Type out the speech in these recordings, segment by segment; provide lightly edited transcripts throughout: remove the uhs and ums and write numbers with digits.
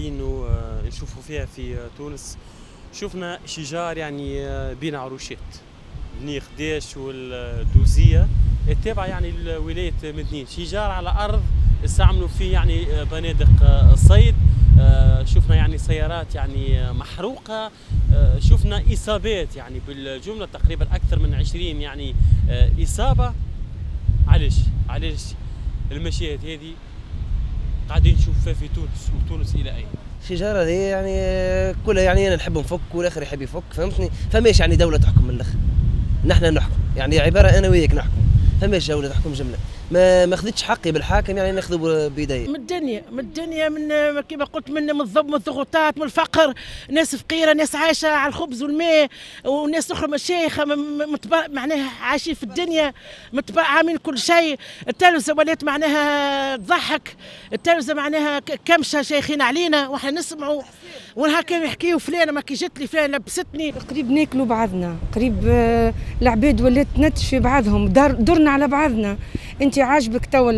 قاعدين نشوفوا فيها في تونس. شفنا شجار يعني بين عروشات بني خداش والدوزيه التابعة يعني لولاية مدنين، شجار على ارض استعملوا فيه يعني بنادق الصيد. شفنا يعني سيارات يعني محروقة، شفنا اصابات يعني بالجملة تقريبا اكثر من 20 يعني اصابه. علاش المشاهد هذه قاعدين نشوف فيها في تونس، وتونس الى اين؟ الشجرة هذه يعني كلها يعني انا نحب نفك والاخر يحب يفك، فهمتني؟ فماش يعني دولة تحكم من الاخر، نحن نحكم يعني عبارة انا وياك نحكم، فماش دولة تحكم جملة. ما خذتش حقي بالحاكم يعني ناخذه بيدي. من الدنيا، من الدنيا، من كما قلت، من الضغوطات، من الفقر، ناس فقيرة، ناس عايشه على الخبز والماء، وناس اخرى مشايخه معناها عايشين في الدنيا عاملين كل شيء. التلفزة ولات معناها تضحك، التلفزة معناها كمشه شيخين علينا واحنا نسمعوا، ونهار كانوا يحكيوا فلانه ما كي جت لي فلانه لبستني. قريب ناكلوا بعضنا، قريب العباد ولات تنتش في بعضهم، درنا على بعضنا. انت عاجبك توا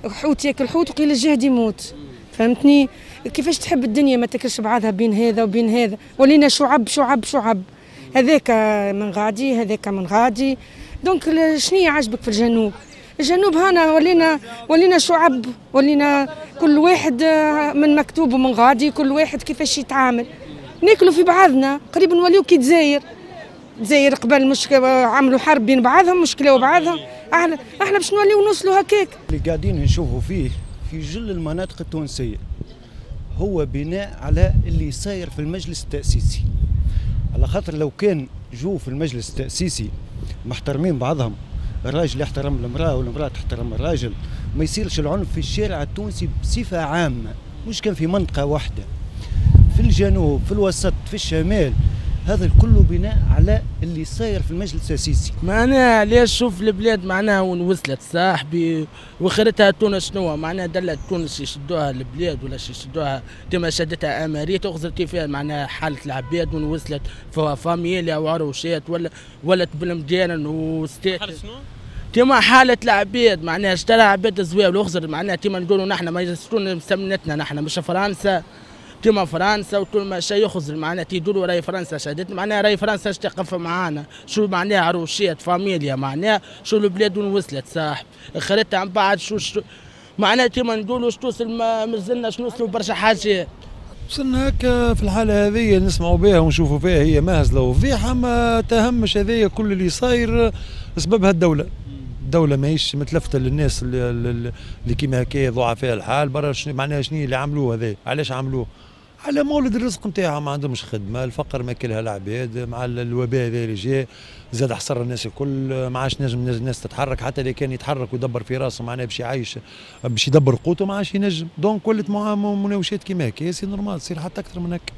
الحوت ياكل حوت وقيل الجهد يموت، فهمتني؟ كيفاش تحب الدنيا ما تاكلش بعضها بين هذا وبين هذا؟ ولينا شعب شعب شعب، هذاك من غادي هذاك من غادي. donc شنو عاجبك في الجنوب؟ الجنوب هنا ولينا شعب، ولينا كل واحد من مكتوب ومن غادي، كل واحد كيفاش يتعامل. ناكلوا في بعضنا، قريب نوليو كي تزاير. تزاير قبل مش عملوا حرب بين بعضهم، مشكلة بعضهم، احنا باش نوليو نوصلوا هكاك. اللي قاعدين نشوفوا فيه في جل المناطق التونسية هو بناء على اللي صاير في المجلس التأسيسي. على خاطر لو كان جو في المجلس التأسيسي محترمين بعضهم، الراجل يحترم المرأة والمرأة تحترم الراجل، ما يصيرش العنف في الشارع التونسي بصفة عامة، مش كان في منطقة واحدة، في الجنوب، في الوسط، في الشمال. هذا الكل بناء على اللي صاير في المجلس التأسيسي. معناها علاش شوف البلاد معناها وين وصلت صاحبي، وخرتها تونس شنو معناها؟ دلت تونس يشدوها البلاد ولا يشدوها كما شدتها امريكا، تغزر كيفاه معناها حاله العباد وين وصلت، فاميليا وعروشات ولا ولت بالمدينة وستات. كما حالة العباد معناها اشترى عباد الزواول وخزر معناها كما نقولوا نحن ما يجلسون مسمنتنا نحن مش فرنسا، كما فرنسا وكل ما شيء يخزر معناها تيدوروا راي فرنسا شدت معناها راي فرنسا تقف معانا، شو معناها عروشات فاميليا معناها شو البلاد وين وصلت صاحب، خريتها عن بعد شو معناها كما نقولوا توصل مازلنا نوصلوا برشا حاجات. وصلنا هكا في الحالة هذه نسمعوا بها ونشوفوا فيها هي مهزلة وفضيحة، ما تهمش هذه كل اللي صاير سببها الدولة. الدولة ماهيش متلفتة للناس اللي كيما هكايا ضعفاء الحال برا. معناها شنو اللي عملوه هذا؟ علاش عملوه؟ على مولد الرزق نتاعهم، ما عندهمش خدمة، الفقر ماكلها العباد، مع الوباء هذا اللي جاء زاد حصر الناس الكل، ما عادش نجم الناس تتحرك، حتى اللي كان يتحرك ويدبر في راسه معناها باش يعيش باش يدبر قوته ما عادش ينجم، donc ولت مناوشات كيما هكا، c'est normal تصير حتى اكثر من هكا.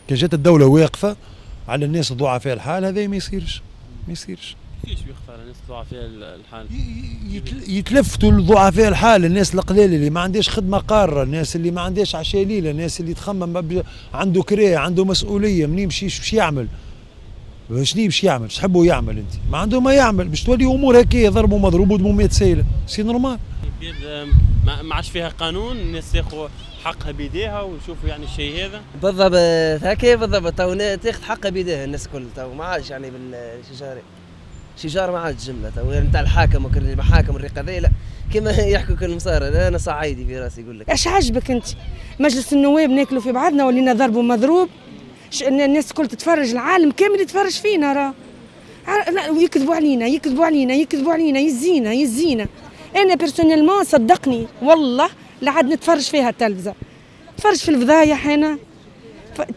كان جات الدولة واقفة على الناس الضعفاء الحال هذا ما يصيرش، ما يصيرش. كيفاش يخفى على الناس ضعفاء الحال؟ يتلفتوا لضعفاء الحال، الناس القليلة اللي ما عندهاش خدمة قارة، الناس اللي ما عندهاش عشاء ليلة، الناس اللي تخمم عنده كريه، عنده مسؤولية، منين يمشي باش يعمل؟ شنو باش يعمل؟ اش تحبوا يعمل انت؟ ما عنده ما يعمل، باش تولي امور هكايا ضرب ومضروب ودمومات سايله، c'est normal. ما عادش فيها قانون، الناس تاخذ حقها بيديها ونشوفوا يعني الشيء هذا. بالضبط هكا بالضبط، تو تاخذ حقها بيديها الناس الكل، تو ما عادش يعني بالشجاره. شجار ما عادش جملة تو نتاع الحاكم المحاكم الرقابية، لا كما يحكوا كل المصارى، انا صعيدي في راسي يقول لك. اش عجبك انت؟ مجلس النواب ناكلوا في بعضنا ولينا ضرب ومضروب، الناس الكل تتفرج، العالم كامل يتفرج فينا راه، ويكذبوا علينا يكذبوا علينا يكذبوا علينا، يزينا يزينا. انا personnellement صدقني والله لا عاد نتفرج فيها التلفزة، نتفرج في الفضايح. انا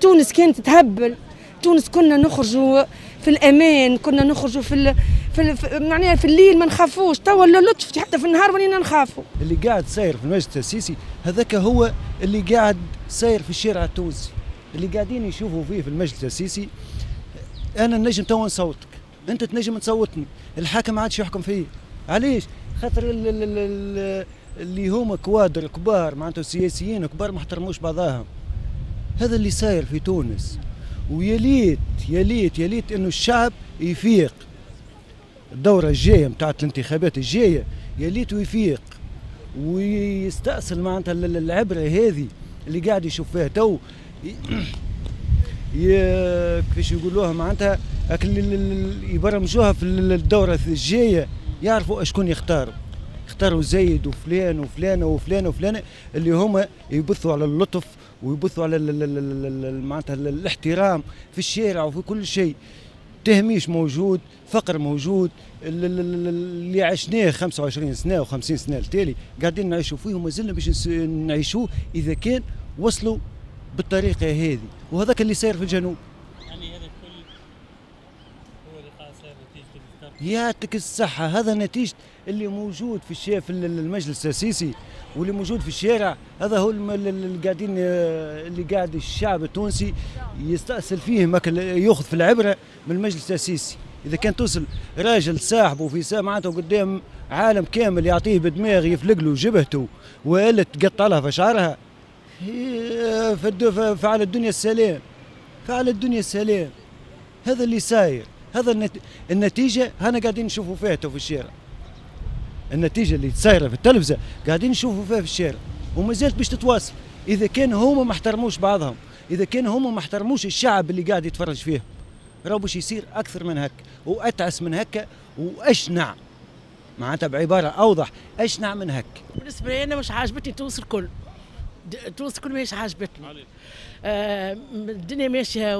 تونس كانت تهبل، تونس كنا نخرجوا في الامان، كنا نخرجوا في معناها في الليل ما نخافوش، توا لطف حتى في النهار ولينا نخافوا. اللي قاعد ساير في المجلس التأسيسي هذاك هو اللي قاعد ساير في الشارع التونسي، اللي قاعدين يشوفوا فيه في المجلس التأسيسي. انا نجم توا نصوتك، انت تنجم تصوتني، الحاكم ما عادش يحكم فيا. علاش؟ خاطر اللي هما كوادر كبار معناتها سياسيين كبار ما احترموش بعضاهم. هذا اللي صاير في تونس، ويا ليت يا ليت يا ليت انه الشعب يفيق. الدورة الجاية نتاعت الانتخابات الجاية يا ليت يفيق ويستأصل معناتها العبرة هذه. اللي قاعد يشوف فيها تو كيفاش يقولوها معناتها اللي يبرمجوها في الدورة الجاية يعرفوا اشكون يختاروا، يختاروا زيد وفلان وفلانه وفلانه وفلانه اللي هما يبثوا على اللطف ويبثوا على معناتها الاحترام في الشارع وفي كل شيء. تهميش موجود، فقر موجود، اللي عشناه 25 سنة و50 سنة التالي قاعدين نعيشوا فيه وما زلنا باش نعيشوه اذا كان وصلوا بالطريقة هذه، وهذاك اللي صاير في الجنوب. يعني هذا الكل هو اللي قاعد صاير نتيجة يعطيك الصحة، هذا نتيجة اللي موجود في المجلس التاسيسي واللي موجود في الشارع، هذا هو اللي قاعدين اللي قاعد الشعب التونسي يستأصل فيه، ياخذ في العبرة من المجلس التاسيسي. اذا كان توصل راجل صاحبه في معناته قدام عالم كامل يعطيه بدماغ يفلق له جبهته والا تقطع لها في شعرها، فعلى الدنيا السلام، فعلى الدنيا السلام. هذا اللي صاير، هذا النتيجة هنا قاعدين نشوفوا فيها في الشارع. النتيجة اللي صايرة في التلفزة قاعدين نشوفوا فيها في الشارع وما زالت باش تتواصل اذا كان هما ما احترموش بعضهم، اذا كان هما ما احترموش الشعب اللي قاعد يتفرج فيه، راهو باش يصير اكثر من هكا واتعس من هكا واشنع، معناتها بعبارة اوضح اشنع من هكا. بالنسبة لي انا مش عاجبتني تونس الكل، تونس الكل ماهيش عاجبتني. الدنيا ماشية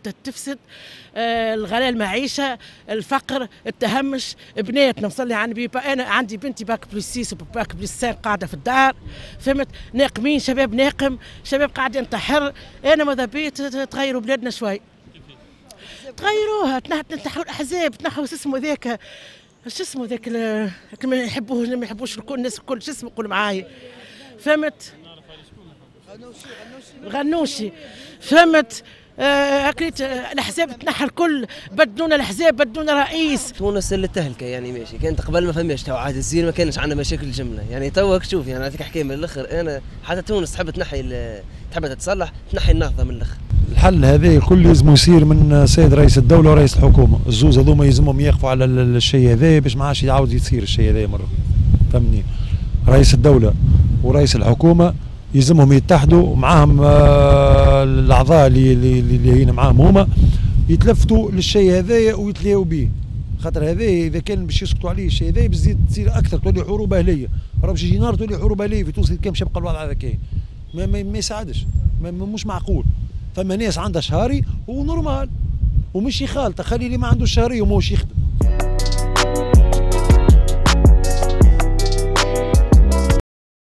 وتفسد، الغلاء المعيشة، الفقر، التهمش، بناتنا نصلي على النبي. انا عندي بنتي bac plus 6 و bac plus 5 قاعدة في الدار، فهمت؟ ناقمين، شباب ناقم، شباب قاعد ينتحر. انا ماذا بيا تغيروا بلادنا شوي، تغيروها، تنحوا الاحزاب، تنحوا شو اسمه ذاك، شو اسمه ذاك ما يحبوه ما يحبوش الكل، الناس الكل، شو اسمه قول معايا، فهمت؟ غنوشي، فهمت؟ اكلت الاحزاب تنحى الكل، بدلونا الاحزاب، بدلونا رئيس. تونس اللي تهلكه يعني ماشي، كانت قبل ما فماش تو عاد الزين ما كانش عندنا مشاكل جملة، يعني تو شوف يعني نعطيك حكاية من الاخر، انا حتى تونس تحب تنحي تحب تتصلح تنحي النهضة من الاخر. الحل هذا الكل لازم يصير من سيد رئيس الدولة ورئيس الحكومة، الزوز هذوما يلزمهم يقفوا على الشيء هذا باش ما عادش يعاود يصير الشيء هذا مرة، فهمني؟ رئيس الدولة ورئيس الحكومة يلزمهم يتحدوا معاهم الاعضاء اللي هنا معاهم هما يتلفتوا للشيء هذايا ويتلاقوا به، خاطر هذا اذا كان باش يسكتوا عليه الشيء هذا بزيد تصير اكثر، تولي حروب اهليه، راه باش يجي نهار تولي حروب اهليه في تونس كان باش يبقى الوضع هذا كاين، ما يساعدش، مش معقول. فما ناس عندها شهري و normal ومش خالطه، خلي اللي ما عندوش شهري وماهوش يخدم.